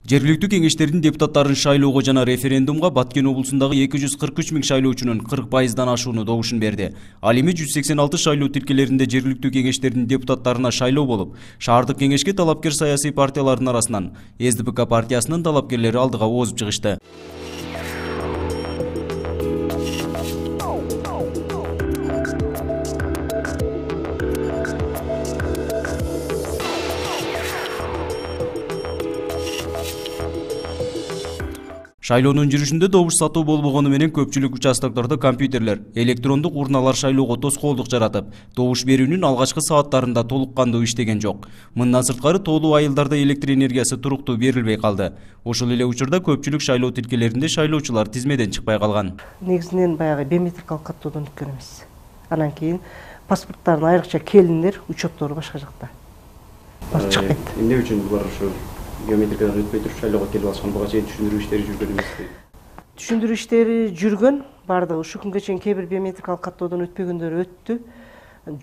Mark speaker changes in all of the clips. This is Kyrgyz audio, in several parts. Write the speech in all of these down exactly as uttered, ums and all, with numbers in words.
Speaker 1: Жергиликтүү кеңештердин депутаттарын шайлоого жана референдумга Баткен облусундагы эки жүз кырк үч миң шайлоочунун кырк пайыздан ашууну добушун берди. Ал эми жүз сексен алты шайлоо тилкелеринде жергиликтүү кеңештердин депутаттарына шайлоо болуп, шаардык кеңешке талапкер саясий партиялардын арасынан эс дэ пэ ка партиясынын талапкерлери алдыга оозуп чыгышты. Шайлоонун жүрүшүндө добуш сатуу болбогону менен көпчүлүк участоктордо компьютерлер, электрондук урналар шайлоого тоскоолдук жаратып, добуш берүүнүн алгачкы сааттарында толук кандуу иштеген жок. Мындан сырткары тоолуу айылдарда электр энергиясы туруктуу берилбей калды. Ошол эле учурда көпчүлүк шайлоо тилкелеринде шайлоочулар тизмеден чыкпай калган.
Speaker 2: Негизинен баягы биометрикалык каттоодон өткөн эмес. Анан кийин паспорттардын айрыкча келиндер, учеттору башка жакта. Чыкпайт.
Speaker 3: Эмне үчүн булар ошо биометрикадан өтпөй туруп шайлоого келип алышкан, буга чейин түшүндүрүү иштери жүргөн эмеспи?
Speaker 2: Түшүндүрүү иштери жүргөн, бардыгы ушул күнгө чейин кээ бир биометрикалык каттоодон өтпөгөндөр өттү.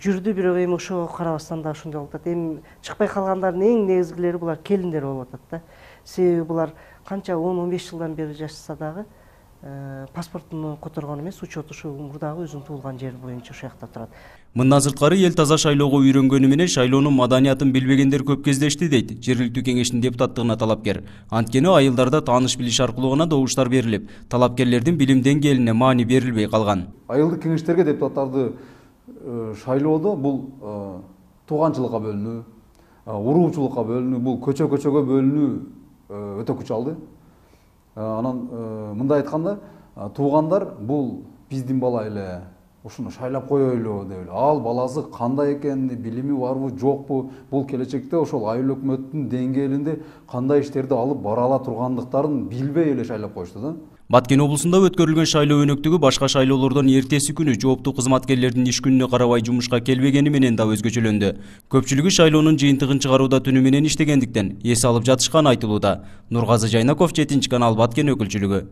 Speaker 2: Жүрдү, бирок эми ошого карабастан да ушундай болуп атат. Эми чыкпай калгандардын эң негизгилери булар келиндер болуп атат да. Себеби булар канча он он беш жылдан бери жашаса дагы паспортун которгон эмес, учет ушул мурдагы өзүнүн туулган жери боюнча ошол жакта турат.
Speaker 1: Мындан сырткары эл таза шайлоого үйрөнгөнү менен шайлоонун маданиятын билбегендер көп кездешти дейт жергиликтүү кеңештин депутаттыгына талапкер. Анткени айылдарда тааныш билиш аркылуу гана добуштар берилип, талапкерлердин билим деңгээлине маани берилбей калган.
Speaker 4: Айылдык кеңештерге депутаттарды шайлоодо бул тууганчылыкка бөлүнүү, уруучулукка бөлүнүү, бул көчө-көчөгө бөлүнүү өтө күч алды. Анан мындай айтканда, туугандар бул биздин бала эле, ушуну шайлап коелу деп эле. Ал баласы кандай экени, билими барбы, жокпу, бул келечекте ошол айыл өкмөттүн деңгээлинде кандай иштерди алып бара ала тургандыктарын билбей эле шайлап коюшту да.
Speaker 1: Баткен облусунда өткөрүлгөн шайлоо өнөктүгү башка шайлоолордон эртеси күнү жооптуу кызматкерлердин иш күнүнө карабай жумушка келбегени менен да өзгөчөлөндү. Көпчүлүгү шайлоонун жыйынтыгын чыгарууда түнү менен иштегендиктен эс алып жатышканы айтылууда. Нургазы Жайнаков, жетинчи канал, Баткен өкүлчүлүгү.